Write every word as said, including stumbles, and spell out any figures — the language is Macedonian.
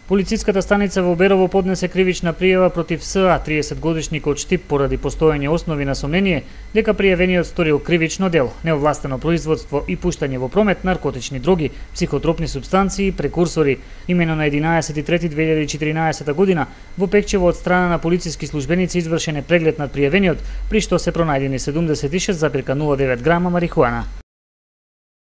Полициската станица во Берово поднесе кривична пријава против СА, триесетгодишник од Штип, поради постоење основи на сомнение дека пријавениот сторил кривично дело, неовластено производство и пуштање во промет наркотични дроги, психотропни супстанции и прекурсори. Имено на единаесети трети две илјади и четиринаесета година во Пекчево од страна на полициски службеници извршен е преглед над пријавениот, при што се пронајдени седумдесет и шест зарез нула девет грама марихуана.